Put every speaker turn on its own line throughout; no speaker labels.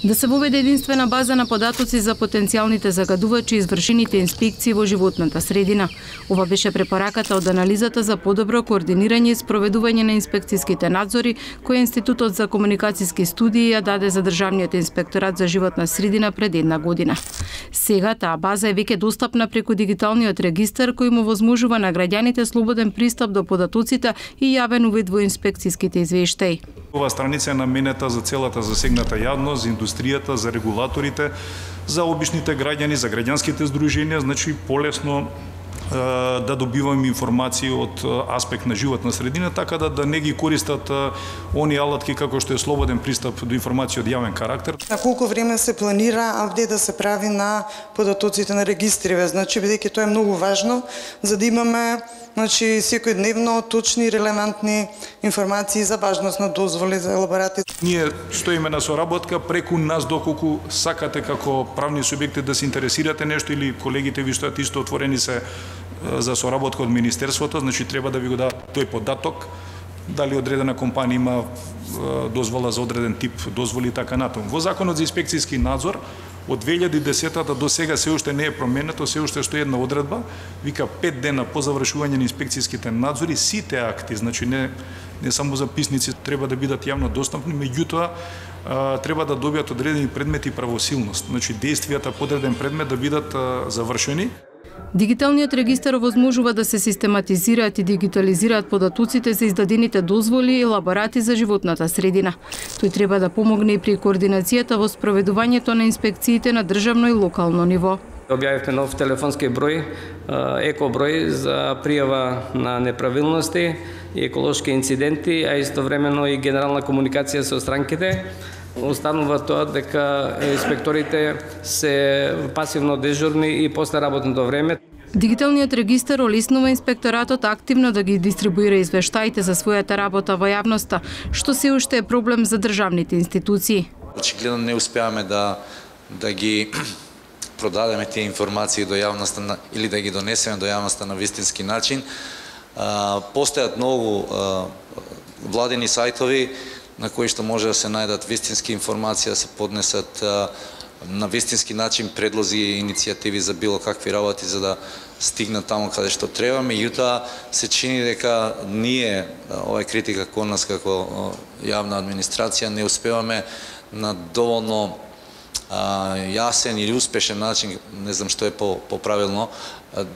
Да се воведе единствена база на податоци за потенцијалните загадувачи и извршените инспекции во животната средина. Ова беше препораката од анализата за подобро координирање и спроведување на инспекцијските надзори, која Институтот за комуникацијски студии ја даде за Државниот инспекторат за животна средина пред една година. Сега таа база е веќе достапна преку дигиталниот регистар кој му возможува на граѓаните слободен пристап до податоците и јавен увид во инспекцијските извештаи.
Ова страница е наменета за целата засегната јавност, за индустријата, за регулаторите, за обичните граѓани, за граѓанските здруженија, значи полесно да добиваме информации од аспект на животна средина, така да не ги користат они алатки како што е слободен пристап до информации од јавен карактер.
На колку време се планира апдейт да се прави на податоците на регистриве? Значи, бидејќи тоа е многу важно, за да имаме секојдневно точни и релевантни информации за важност на дозволи за елаборати.
Ние стоиме на соработка преку нас доколку сакате како правни субјекти да се интересирате нешто или колегите ви стојат исто отворени се за соработка од Министерството, значи треба да ви го дадат тој податок, дали одредена компанија има дозвола за одреден тип дозволи и така натаму. Во Законот за инспекцијски надзор од 2010 до сега се уште не е променето, се уште стои една одредба, вика 5 дена по завршување на инспекцијските надзори сите акти, значи не само записници треба да бидат јавно достапни, меѓутоа треба да добијат одредени предмети и правосилност, значи действијата по одреден предмет да бидат завршени.
Дигиталниот регистар овозможува да се систематизираат и дигитализираат податоците за издадените дозволи и елаборати за животната средина. Тој треба да помогне и при координацијата во спроведувањето на инспекциите на државно и локално ниво.
Објавивме нов телефонски број, еко број за пријава на неправилности и еколошки инциденти, а истовремено и генерална комуникација со странките. Останува тоа дека инспекторите се пасивно дежурни и после работното време.
Дигиталниот регистар олеснува инспекторатот активно да ги дистрибуира извештаите за својата работа во јавноста, што се уште е проблем за државните институции.
Очигледно не успеаваме да ги продадеме тие информации до јавноста или да ги донесеме до јавноста на вистински начин. Постојат многу владени сајтови на кои што може да се најдат вистински информации, да се поднесат на вистински начин предлози и иницијативи за било какви работи за да стигнат таму каде што треба. Меѓутоа се чини дека ние, ова е критика кон нас како јавна администрација, не успеваме на доволно јасен или успешен начин, не знам што е поправилно,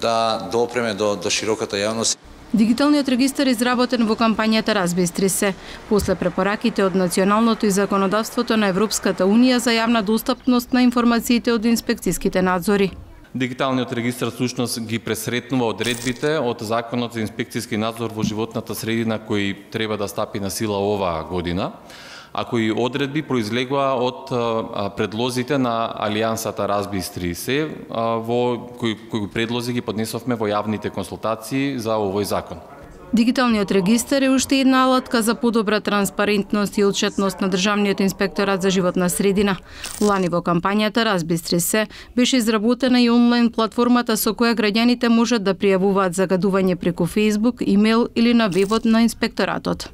да допреме до широката јавност.
Дигиталниот регистар е изработен во кампањата Разбистри се, после препораките од националното и законодавството на Европската Унија за јавна достапност на информациите од инспекцијските надзори.
Дигиталниот регистар всушност ги пресретнува одредбите од Законот за инспекцијски надзор во животната средина кој треба да стапи на сила оваа година, а кои одредби произлегува од предлозите на Алијансата Разбистри се, кои предлози ги поднесовме во јавните консултации за овој закон.
Дигиталниот регистар е уште една алатка за подобра транспарентност и отчетност на Државниот инспекторат за животна средина. Лани во кампањата Разбистри се беше изработена и онлайн платформата со која граѓаните можат да пријавуваат загадување преку Facebook, имејл или на вебот на инспекторатот.